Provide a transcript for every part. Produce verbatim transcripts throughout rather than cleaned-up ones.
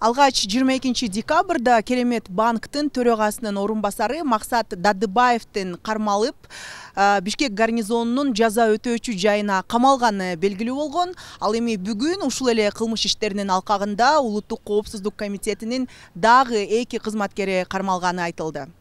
Алгач жыйырма экинчи декабрда Керемет банктын төрөгасынын орун басары Максат Дадыбаевдин кармалып, Бишкек гарнизонунун жаза өтөөчү жайына камалганы белгилүү болгон. Ал эми бүгүн ушул эле кылмыш иштеринин алкагында Улуттук коопсуздук комитетинин дагы эки кызматкери кармалганы айтылды.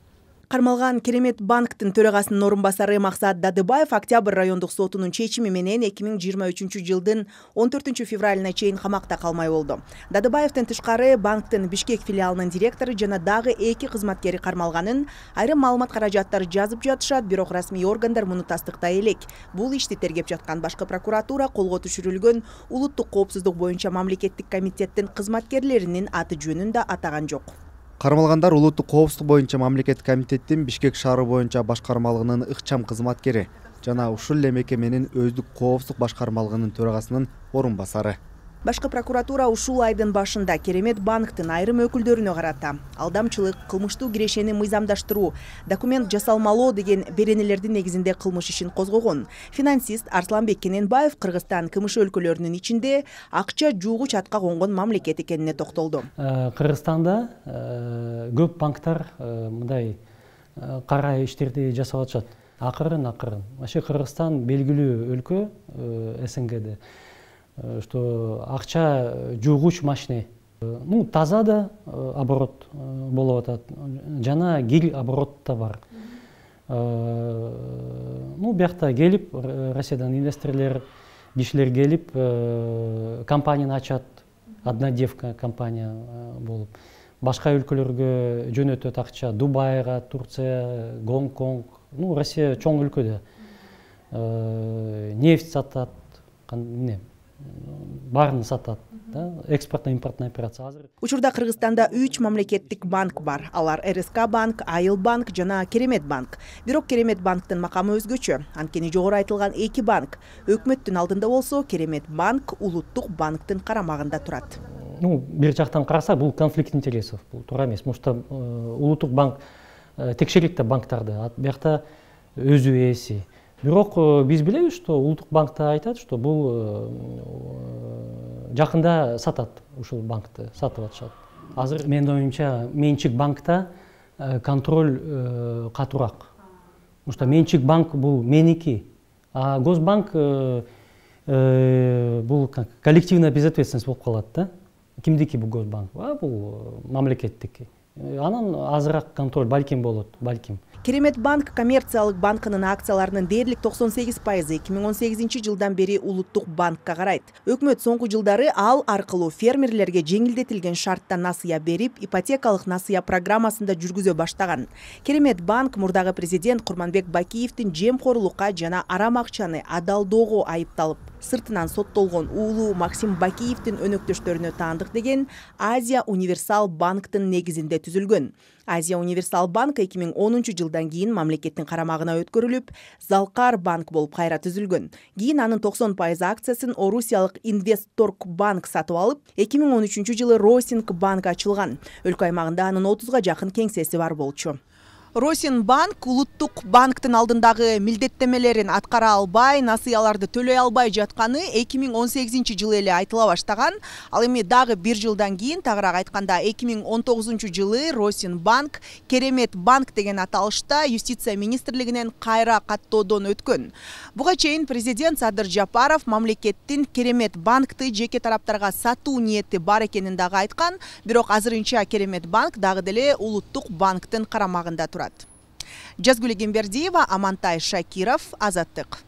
Кармалган Керемет банктын төрагасынын орун басары Максат Дадыбаев Октябрь райондук сотунун чечими менен эки миң жыйырма үчүнчү жылдын он төртүнчү февралына чейин камакта калмай болду. Дадыбаевдин тышкары банктын Бишкек филиалынын директору жана дагы эки кызматкери кармалганын айрым маалымат каражаттары жазып жатышат, бирок расмий органдар муну тастыктай элек. Бул ишти тергеп жаткан башкы прокуратура колго түшүрүлгөн улуттук коопсуздук боюнча мамлекеттик комитеттин кызматкерлеринин аты жөнүн да атаган жок. Кармалгандар улуттук коопсуздук боюнча мамлекеттик комитеттин Бишкек шаары боюнча башкармалыгынын ыкчам кызматкери жана ушул эле мекеменин өздүк коопсуздук башкармалыгынын төрагасынын орун басары. Башкы прокуратура ушул айдын башында Керемет банктын айрым өкүлдөрүнө карата алдамчылык, кылмыштуу кирешени мыйзамдаштыруу, документ жасалмалоо деген беренелердин негизинде кылмыш ишин козгогон. Финансист Арсланбек Кененбаев Кыргызстан КМШ өлкөлөрүнүн ичинде акча жуугуч атка конгон мамлекет экенине токтолду. Кыргызстанда көп банктар мындай кара иштерди жасап атышат. Акырын акырын. Вообще Кыргызстан белгилүү өлкө СНГде. Что акча жуугуч машина, ну таза да оборот болуп атат, жана гил оборот да бар. Ну биякта келип Россиядан инвесторлор, кишилер келип компанияны ачат, однодевка компания болуп. Башка өлкөлөргө жөнөтөт акча, Дубайга, Турция, Гонконг, ну Россия чоң өлкө да. Нефть сатат, эмне баарын сатат, экспортно-импортный операция. Учурда Кыргызстанда үч мамлекеттик банк бар. Алар РСК банк, Айыл банк жана Керемет банк. Бирок Керемет банктын макамы өзгөчө. Анткени жогору айтылган эки банк өкмөттүн алдында болсо, Керемет банк улуттук банктын карамагында турат. Ну, бир жактан караса, бул конфликт интересов, бул туура эмес. Мушта улуттук банк текшерет да банктарды, биякта өзү ээси. Бирок биз билебиз, что улуттук банкта айтат, что бул жакында сатат, ушул банкты сатып атышат. Азыр менин оюмча менчик банкта контроль катуураак. Потому что менчик банк бул меники, а Госбанк бул коллективная безответственность болуп калат да. Кимдики бул Госбанк? Бул мамлекеттики. Анан азыраак контроль балким болот, балким. Керемет банк коммерциялык банкынын акцияларынын дээрлик токсон сегиз пайызы эки миң он сегизинчи жылдан бери улуттук банкка карайт. Өкмөт соңку жылдары ал аркылуу фермерлерге жеңилдетилген шартта насыя берип, ипотекалык насыя программасында жүргүзө баштаган. Керемет банк мурдагы президент Курманбек Бакиевдин жемкорлукка жана арам акчаны адалдоого айыпталып, сыртынан соттолгон уулу Максим Бакиевдин өнөктөштөрүнө таандык деген Азия Универсал банктын негизинде түзүлгөн. Азия Универсал банк эки миң онунчу жылдан кийин мамлекеттин карамагына өткөрүлүп, Залкар банк болуп кайра түзүлгөн. Кийин анын токсон пайыз акциясын Орусиялык Инвестторг банк сатып алып, эки миң он үчүнчү жылы Росинг банк ачылган. Өлкө аймагында анын отузга жакын кеңсеси бар болчу. Росин банк улуттук банктын алдындагы милдеттемелерин аткара албай, насыяларды төлөй албай жатканы эки миң он сегизинчи жылы эле айтыла баштаган. Ал эми дагы бир жылдан кийин, тагыраак айтканда эки миң он тогузунчу жылы Росин банк Керемет банк деген аталышта юстиция министрлигинен кайра каттоодон өткөн. Буга чейин президент Садыр Жапаров мамлекеттин Керемет банкты жеке тараптарга сатуу ниети бар экенин дагы айткан, бирок азырынча Керемет банк дагы деле улуттук банктын карамагында турат. Жазгүл Эгембердиева, Амантай Шакиров, Азаттык.